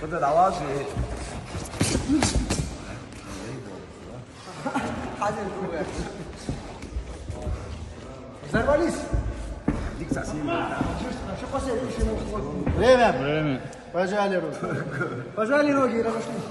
근데 나와지. 사진 누구야? Zarvalis. Diksa simbolta. Что посмотришь ему? Время. Пожали руки. Пожали ноги и разошлись.